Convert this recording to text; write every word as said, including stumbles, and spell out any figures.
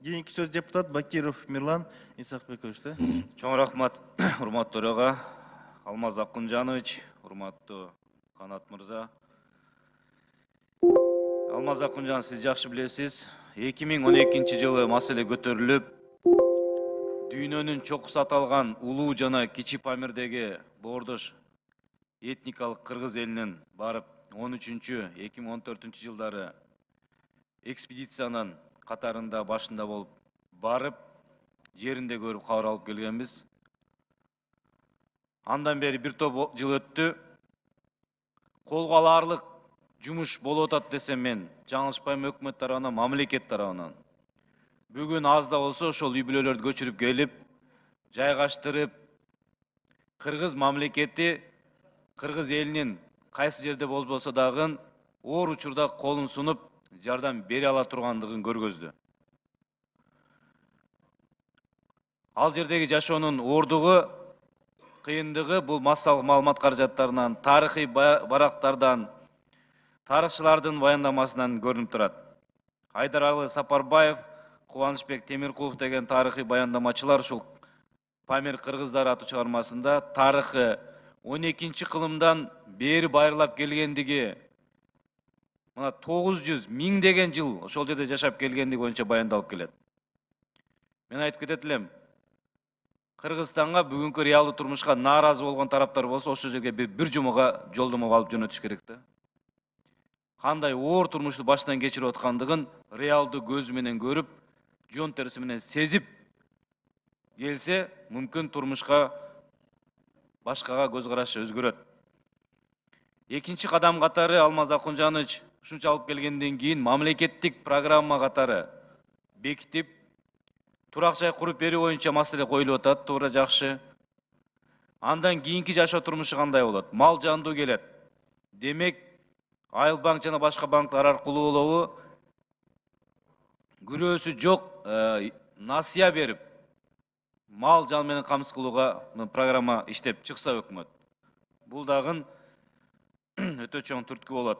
Кийинки сөз депутат Бакиров Мирлан Исакбековичте. Чоң рахмат, урматтуу төраға, Алмаз Акунжанович, урматтуу Канат мырза. Алмаз Акунжан, сиз жакшы билесиз, эки миң он экинчи жылы маселе көтөрүлүп, дүйнөнүн чокусу аталган Улуу жана Кичи Памирдеги боордош этникалык кыргыз элинин барып он үчүнчү эки миң он төртүнчү жылдары экспедициянын катарында башында болуп барып, жеринде көрүп кабар алып келгенбиз. Андан бери бир топ жыл өттү. Колго алаарлык жумуш болуп атат десем мен жаңылышпайм, өкмөт тарабынан, мамлекет тарабынан. Бүгүн аз да болсо ошол үй бүлөлөрдү көчүрүп келип, жайгаштырып, кыргыз мамлекети, кыргыз элинин кайсы жерде болбосо дагы оор учурда колун сунуп, жардам бере ала тургандыгын көргөздү. Ал жердеги жашоонун оордугу, кыйындыгы бул массалык маалымат каражаттарынан, тарыхый барактардан, тарыхчылардын баяндамасынан көрүнүп турат. Айдаралы Сапарбаев, Кубанычбек Темиркулов деген тарыхый баяндамачылар ушул Памир кыргыздары аттуу чыгармасында тарыхы он экинчи кылымдан бери байырлап келгендиги, мына тогуз жүз миң деген жыл ошол жерде жашап келгендиги боюнча баяндалып келет. Мен айтып кетет элем, Кыргызстанга бүгүнкү реалдуу турмушка нааразы болгон тараптар болсо, ошол жерге бир жумага жолдомо алып жөнөтүш керек да. Кандай оор турмушту баштан кечирип аткандыгын реалдуу көзү менен көрүп, жон терisi менен сезип келсе, мүмкүн турмушка башкага көз карашы өзгөрөт. Экинчи кадам катары Алмаз Акунжанович ушунча алып келгенден кийин мамлекеттик программа катары бекитип, турак жай куруп берүү боюнча маселе коюлуп атат, туура жакшы. Андан кийинки жашоо турмушу кандай болот? Мал жандуу келет. Демек, Айыл банк жана башка банктар аркылуу болобу, күрөөсү жок насыя берип, мал жан менен камсыз кылууга программа иштеп чыкса өкмөт. Бул дагы өтө чоң түрткү болот.